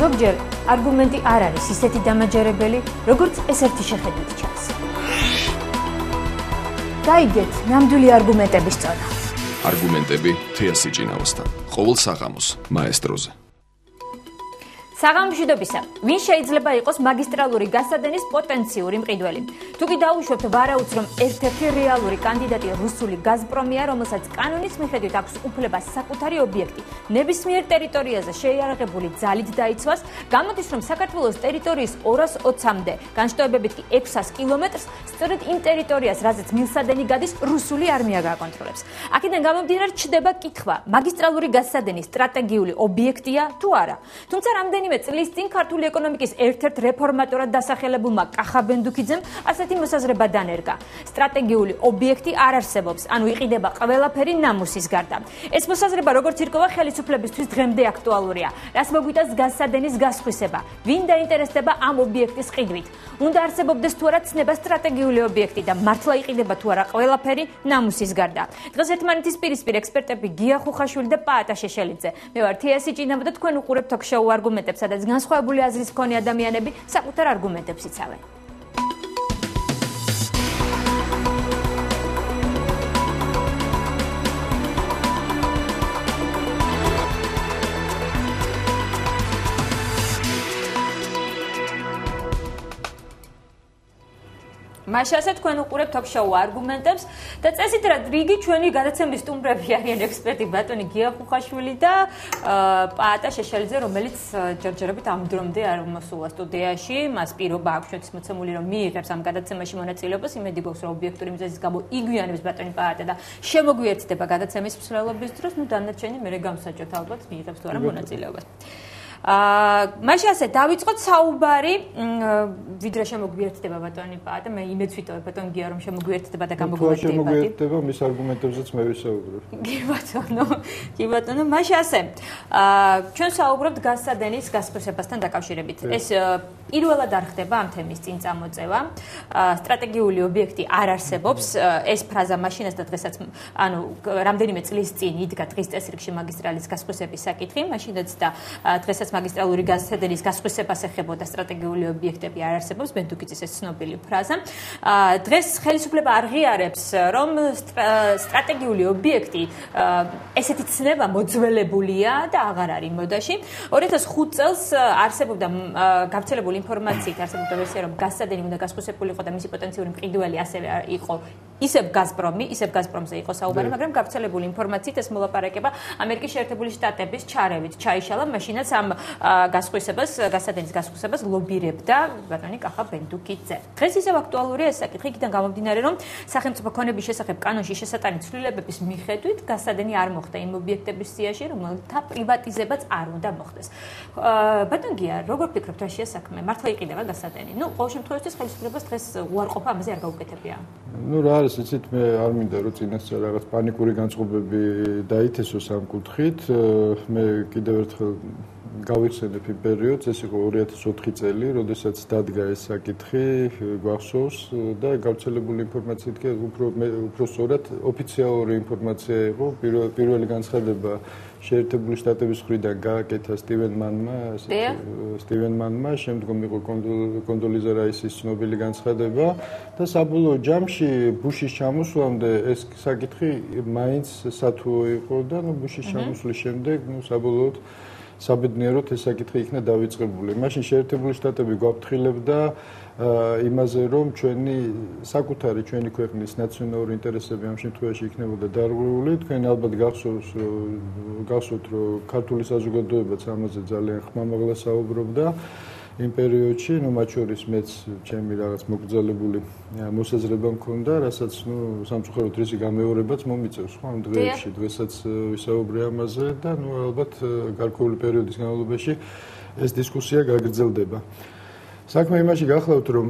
ზოგჯერ არგუმენტი არ არის ისეთი დამაჯერებელი, როგორც ეს ერთი შეხედვით ჩანს. გაიგეთ ნამდვილი არგუმენტების წონა. არგუმენტები თეასი ჭინაოსთან. ყოველ საღამოს მაესტროზე. საღამოშვიდობისა, ვინ შეიძლება იყოს მაგისტრალური გასადენის პოტენციური მყიდველი? თუ კი დაუშვებთ ვარაუდს, რომ ერთ-ერთი რეალური კანდიდატი რუსული გაზპრომია, რომელსაც კანონის მიხედვით აქვს უფლება საკუთარი ობიექტი ნებისმიერ ტერიტორიაზე შეიარაღებული ძალით დაიცვას, გამოდის, რომ საქართველოს ტერიტორიის 220-მდე, განშტოებებით კი 600 კილომეტრს, სწორედ იმ ტერიტორიას, რაზეც მილსადენი გადის, რუსული არმია გააკონტროლებს. აქედან გამომდინარე ჩდება კითხვა, მაგისტრალური გასადენი სტრატეგიული ობიექტია თუ არა. თუმცა რამდენიმე წლის წინ ქართული ეკონომიკის ერთ-ერთ რეფორმატორად დასახელებულმა კახა ბენდუქიძემ ასეთი მოსაზრება დანერგა. სტრატეგიული ობიექტი არ არსებობს, ანუ იყიდება ყველაფერი ნამუსის გარდა. ეს მოსაზრება როგორც ირკვევა ხელისუფლებისთვის დღემდე აქტუალურია. რას მოგვიტანს გასადენის გასხვისება? ვინ დაინტერესდება ამ ობიექტის ყიდვით? უნდა არსებობდეს თუ არა ცნება სტრატეგიული ობიექტი და მართლა იყიდება თუ არა ყველაფერი ნამუსის გარდა. დღეს ერთმანეთის პირისპირ ექსპერტები გია ხუხაშვილი და პაატა შეშელიძე. მე ვარ თეასი ჭინავა და თქვენ უყურებთ თოქ-შოუ არგუმენტებს, სადაც განსხვავებული აზრის მქონე ადამიანები საკუთარ არგუმენტებს იცავენ. მაშასე თქვენ უყურებთ თოქ-შოუ არგუმენტებს და წესით რა რიგი ჩვენი გადაცემის სტუმრები არიან ექსპერტი ბატონი გია ხუხაშვილი და პაატა შეშელიძე, რომელიც ჯერჯერობით ამ დრომდე არ მოსულა სტუდიაში. მას პირობა აქვს ჩვენთვის მოცემული, რომ მიიღებს ამ გადაცემაში მონაწილეობას. იმედი გვაქვს, რომ ობიექტური მიზეზის გამო იგვიანებს ბატონი პაატა და შემოგვიერთდება გადაცემის მსვლელობის დროს. დანარჩენი მერე გამსაჯოთ ალბათ მიიღებს თუ არა მონაწილეობას. მაშასე დავიწყოთ საუბარი, ვიდრე შემოგვიერთდება ბატონი პაატა, მე იმედს ვიტოვებ ბატონ გია, რომ შემოგვიერთდება და გამოგვიერთდება. შემოგვიერთდება, მის არგუმენტებზეც მე ვისაუბრებ. კი ბატონო, მაშასე ჩვენ საუბრობთ გასადენის გასხვისებასთან დაკავშირებით. ეს პირველად არ ხდება ამ თემის წინ წამოწევა. სტრატეგიული ობიექტი არ არსებობს. ეს ფრაზა მაშინაც და დღესაც, ანუ რამდენიმე წლის წინ იდგა დღის წესრიგში მაგისტრალის გასხვისების საკითხი, მაშინაც და დღესაც მაგისტრალური გასადენის გასხვისებას ეხებოდა სტრატეგიული ობიექტები არ არსებობს, ბენდუქიძის ეს ცნობილი ფრაზა. დღეს ხელისუფლება არ ღიარებს, რომ სტრატეგიული ობიექტი ესეთი ცნება მოძველებულია და აღარ არის მოდაში. 2005 წელს არსებობდა გავრცელებული ინფორმაციით, არსებობდა ვერსია, რომ გასადენი უნდა გასხვისებულიყო და მისი პოტენციური მყიდველი ასევე იყო ისევ გაზპრომი, ისევ გაზპრომზე იყო საუბარი, მაგრამ გავრცელებული ინფორმაციით ეს მოლაპარაკება ამერიკის შეერთებული შტატების ჩარევით ჩაიშალა, მაშინაც ამ გასადენის გასხვისებას ლობირებდა ბატონი კახა ბენდუქიძე. დღეს ისევ აქტუალურია ეს საკითხი, იქიდან გამომდინარე, რომ სახელმწიფო ქონების შესახებ კანონში შესატანი ცვლილებების მიხედვით გასადენი არ მოხდა იმ ობიექტების სიაში, რომელთა პრივატიზებაც არ უნდა მოხდეს. ბატონ გია, როგორ ფიქრობთ რა შეა საქმე? მართლა იყიდება გასადენი? ყოველ შემთხვევაში ხელისუფლებას დღეს უარყოფა ამაზე არ გაუკეთებია. რა არის, იცით, მე არ მინდა რომ წინასწარ რაღაც პანიკური განწყობები დაითესოს ამ კუთხით. მე კიდევ ერთხელ გავიხსენებ იმ პერიოდს, ეს იყო 2004 წელი, როდესაც დადგა ეს საკითხი, გვახსოვს და გავრცელებული ინფორმაციით კი უფრო სწორად ოფიციალური ინფორმაცია იყო. პირველი განცხადება შეერთებული შტატების მხრიდან გააკეთა სტივენ მანმა, შემდგომ იყო კონდოლიზა რაისის ცნობილი განცხადება და საბოლოო ჯამში ბუშის ჩამოსვლამდე ეს საკითხი მაინც სათუო იყო და ბუშის ჩამოსვლის შემდეგ საბოლოოდ საბედნიეროდ ეს საკითხი იქნა დავიწყებული. მაშინ შეერთებული შტატები გვაფრთხილებდა იმაზე, რომ ჩვენი ქვეყნის ნაციონალური ინტერესები ამ შემთხვევაში იქნებოდა დარღვეული. თქვენ ალბათ გახსოვთ, რომ ქართული საზოგადოებაც ამაზე ძალიან ხმამაღლა საუბრობდა იმ პერიოდში, მათ შორის მეც ჩემი რაღაც მოკრძალებული მოსაზრება მქონდა, რასაც სამწუხაროდ რისი გამეორებაც მომიწევს ამ დღეებში. დღესაც ვისაუბრე ამაზე და ალბათ გარკვეული პერიოდის განმავლობაში ეს დისკუსია გაგრძელდება. საქმე იმაში გახლავთ, რომ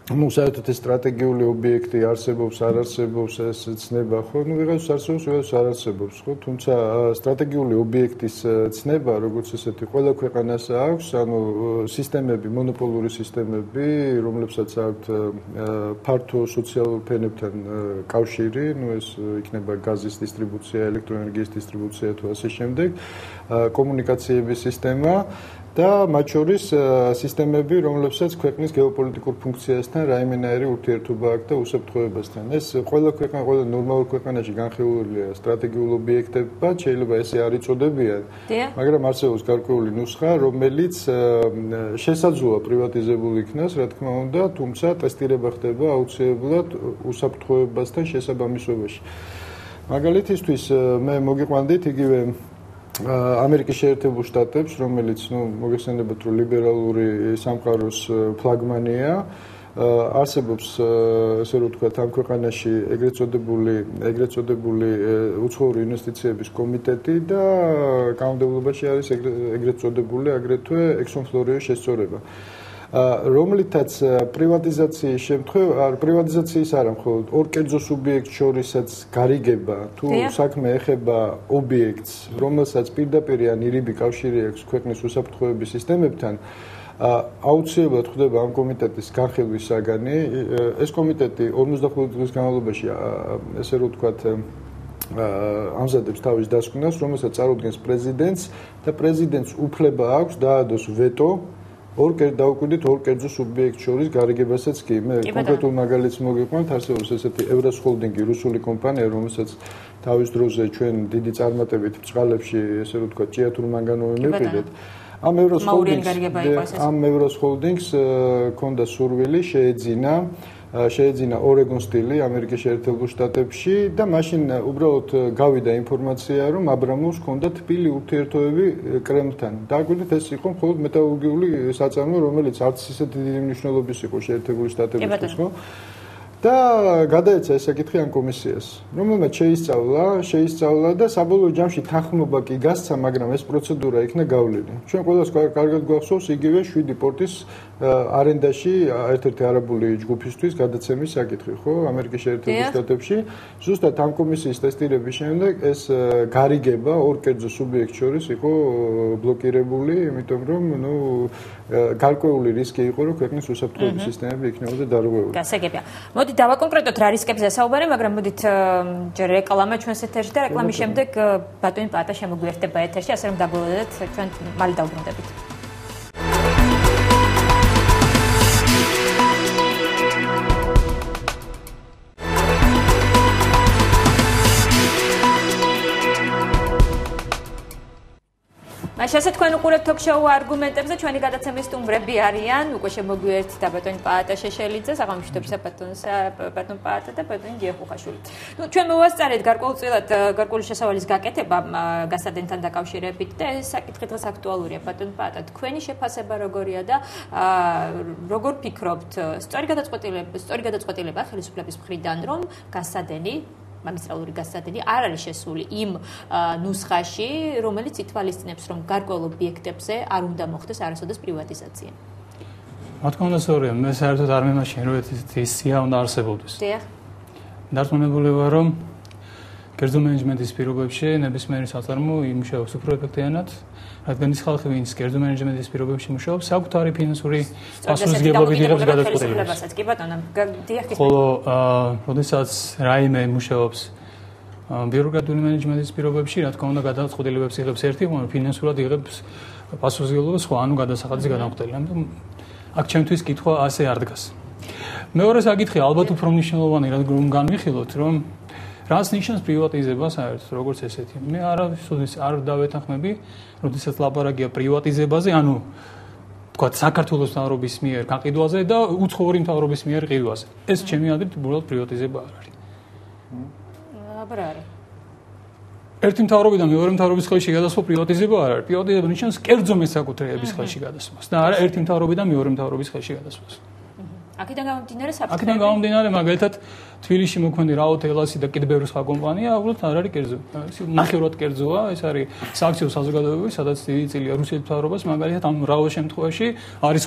საერთოდ ეს სტრატეგიული ობიექტი არსებობს, არ არსებობს, ეს ცნება ხო? ვიღაც არსებობს, ვიღაც არ არსებობს, ხო? თუმცა სტრატეგიული ობიექტის ცნება, როგორც ესეთი, ყველა ქვეყანას აქვს, სისტემები, მონოპოლური სისტემები, რომლებსაც აქვთ ფართო სოციალურ ფენებთან კავშირი, ეს იქნება გაზის დისტრიბუცია, ელექტროენერგიის დისტრიბუცია თუ ასე შემდეგ, კომუნიკაციების სისტემა. და მათ შორის სისტემები, რომლებსაც ქვეყნის გეოპოლიტიკურ ფუნქციასთან რაიმენაირი ურთიერთობა აქვს და უსაფრთხოებასთან. ეს ყველა ნორმალურ ქვეყანაში განხილულია სტრატეგიულ ობიექტებად, შეიძლება ესე არ იწოდებიან, მაგრამ არსებობს გარკვეული ნუსხა, რომელიც შესაძლოა პრივატიზებული იქნას, რა თქმა უნდა, თუმცა ტესტირება ხდება აუცილებლად უსაფრთხოებასთან შესაბამისობაში. მაგალითისთვის მე მოგიყვანდით იგივე ამერიკის შეერთებულ შტატებს, რომელიც მოგეხსენებათ, რომ ლიბერალური სამყაროს ფლაგმანია, არსებობს ესე რომ ვთქვათ, ამ ქვეყანაში ეგრეთ წოდებული უცხოური ინვესტიციების კომიტეტი და კანონმდებლობაში არის ეგრეთ წოდებული აგრეთვე ექსონფლორიის შესწორება. რომლითაც პრივატიზაციის პრივატიზაციის არა მხოლოდ ორ კერძო სუბიექტს შორისაც გარიგება თუ საქმე ეხება ობიექტს, რომელსაც პირდაპირ ან ირიბი კავშირი აქვს ქვეყნის უსაფრთხოების სისტემებთან, აუცილებლად ხდება ამ კომიტეტის განხილვის საგანი. ეს კომიტეტი 55 დღის განმავლობაში ესე რომ ვთქვათ ამზადებს თავის დასკვნას, რომელსაც წარუდგენს პრეზიდენტს და პრეზიდენტს უფლება აქვს დაადოს ვეტო დავუკვირდით ორ კერძო სუბიექტს შორის გარიგებასაც კი. მე კონკრეტულ მაგალითს მოგიყვანთ, არსებობს ესეთი ევრას ჰოლდინგი, რუსული კომპანია, რომელსაც თავის დროზე ჩვენ დიდი წარმატებით ბწყალებში, ესე რომ ვთქვათ, ჭიათურ მანგანუმი მივყიდეთ. ამ ევრას ჰოლდინგს ჰქონდა სურვილი შეეძინა ორეგონ სტილი ამერიკის შეერთებულ შტატებში და მაშინ უბრალოდ გავიდა ინფორმაცია, რომ აბრამოვს ჰქონდა თბილი ურთიერთობები კრემლთან. დააკვირდით, ეს იყო მხოლოდ მეტალურგიული საწარმო, რომელიც არც ისეთი დიდი მნიშვნელობის იყო შეერთებული შტატებისთვის, ხო? და გადაეცა ეს საკითხი ამ კომისიას, რომელმაც შეისწავლა და საბოლოო ჯამში თანხმობა კი გასცა, მაგრამ ეს პროცედურა იქნა გავლილი. ჩვენ ყველას კარგად გვახსოვს იგივე 7 პორტის არენდაში ერთ-ერთი არაბული ჯგუფისთვის გადაცემის საკითხი, ხო, ამერიკის შეერთებულ შტატებში. ზუსტად ამ კომისიის ტესტირების შემდეგ ეს გარიგება ორ კერძო სუბიექტს შორის იყო ბლოკირებული, იმიტომ რომ გარკვეული რისკი იყო, რომ ქვეყნის უსაფრთხოების სისტემები იქნებოდა დარღვეული. გასაგებია. მოდი დავაკონკრეტოთ რა რისკებზე საუბარი, მაგრამ მოდით ჯერ რეკლამა ჩვენს ეთერში და რეკლამის შემდეგ ბატონი პაატა შემოგვიერთდება ეთერში, ასე რომ დაგველოდეთ, ჩვენ მალე დავბრუნდებით. Așa თქვენ უყურებთ ток-შოუ არგუმენტებზე, ჩვენი გადაცემის სტუმრები არიან უკვე შემოგვიერთდა ბატონი პაატა შეშელიძე, საღამოშტობისა ბატონ პაატა და ბატონი გიეხუხაშვილი. ჩვენ მოვასწარეთ გარკვეული შესავალის გაკეთება გასადენთან დაკავშირებით და ეს საკითხი დღეს აქტუალურია. ბატონ პაატა, თქვენი შეფასება როგორია და როგორ ფიქრობთ, სწორი გადაწყვეტილება ხელისუფლების მხრიდან, რომ გასადენი მაგისტრალური გასადენი არ არის შესული იმ ნუსხაში, რომელიც ითვალისწინებს, რომ გარკვეულ ობიექტებზე არ უნდა მოხდეს არასოდეს პრივატიზაცია. რა თქმა უნდა, სწორია, მე საერთოდ არ მემაშინ, რომ ეს სია უნდა არსებობდეს. დიახ. დარწმუნებული ვარ, რომ კერძო მენეჯმენტის პირობებში ნებისმიერი საწარმო იმუშავებს უფრო ეფექტიანად, რადგან ის ხალხი, ვინც კერძო მენეჯმენტის პირობებში მუშაობს, საკუთარი ფინანსური პასუხისმგებლობით იღებს გადაწყვეტილებას. კი ბატონო, დიახ. ხოლო, როდესაც რაიმე მუშაობს ბიუროკრატიული მენეჯმენტის პირობებში, რა თქმა უნდა, გადაწყვეტილებებს იღებს ერთი, მაგრამ ფინანსურად იღებს პასუხისმგებლობას სხვა, ანუ გადასახადის გადამხდელი. ამიტომ აქ ჩემთვის კითხვა ასე არ დგას. მეორე საკითხი ალბათ უფრო მნიშვნელოვანი, რადგან განვიხილოთ, რომ რას ნიშნავს პრივატიზება საერთოდ, როგორც ესეთი. მე არავის არ დავეთანხმები, როდესაც ლაპარაკია პრივატიზებაზე, ანუ თქვათ საქართველოს მთავრობის მიერ გაყიდვაზე და უცხოური მთავრობის მიერ ყიდვაზე. ეს ჩემი აზრით უბრალოდ პრივატიზება არ არის. აბა არა. ერთი მთავრობიდან მეორე მთავრობის ხელში გადასვლა პრივატიზება არ არის. პრივატიზება ნიშნავს კერძო მესაკუთრეების ხელში გადასვლას და არა ერთი მთავრობიდან მეორე მთავრობის ხელში გადასვლას. აქედან გამომდინარე, მაგალითად, თბილისში მოქმედი რაო თელასი და კიდევ ბევრი სხვა კომპანია, უბრალოდ არ არის კერძო. ნახევრად კერძოა, ეს არის სააქციო საზოგადოებები, სადაც დიდი წილია რუსეთის მთავრობას, მაგალითად, ამ რაო შემთხვევაში არის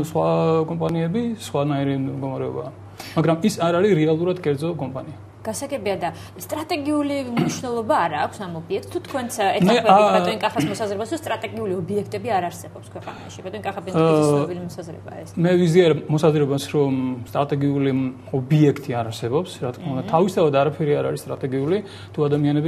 სხვა კომპანიები, სხვანაირი მდგომარეობაა. მაგრამ ის არ არის რეალურად კერძო კომპანია. გასაგებია და სტრატეგიული მნიშვნელობა არ აქვს ამ ობიექტს. თუ თქვენც ეთანხმებით ბატონი კახას მოსაზრებას, რომ სტრატეგიული ობიექტები არ არსებობს ქვეყანაში. ბატონი კახა ბენზინის მოსაზრებაა ეს. მე ვიზიარ მოსაზრებას, რომ სტრატეგიული ობიექტი არ არსებობს, რა თქმა უნდა, თავისთავად არაფერი არ არის სტრატეგიული, თუ ადამიანები